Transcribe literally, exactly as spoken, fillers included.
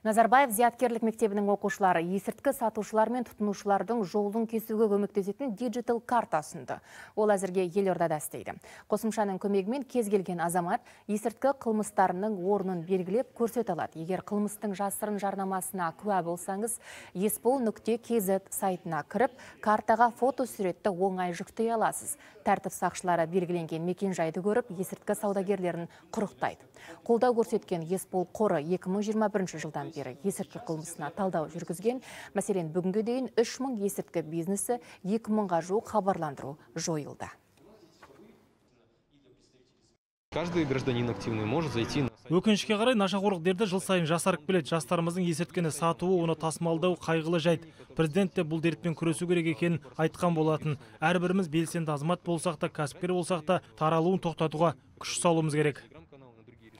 Назарбаев зияткерлік мектебінің оқушылары есірткі сатушылар мен тұтынушылардың жолын кесуге көмектесетін диджитал карта ұсынды. Ол әзірге елордада істейді. Қосымшаның көмегімен кез келген азамат есірткі қылмыстарының орнын белгілеп көрсете алады. Егер қылмыстың жасырын жарнамасына куә болсаңыз, еспол нүкте кз сайтына кіріп, картаға фото суретті оңай жүктей аласыз. Тәртіп сақшылары белгіленген мекен-жайды көріп, есірткі саудагерлерін құрықтайды. Қолдау көрсеткен еспол қоры екі мың жиырма бірінші жылдан бері есірткі қылмысына талдау жүргізген. Мәселен, бүгінге дейін үш мың есірткі бизнесі, екі мыңға жуық хабарландыру жойылды. Каждый гражданин активный может зайти на сайт. Өкінішке қарай, нашақорлық дерті жыл сайын жасарып келеді. Жастарымыздың есірткіні сатуы, оны тасымалдау қайғылы жайт. Президент те бұл дертпен күресу керек екенін айтқан болатын. Әрбіріміз белсенді азамат болсақ та, кәсіпкер болсақ та, таралуын тоқтатуға күш салуымыз керек.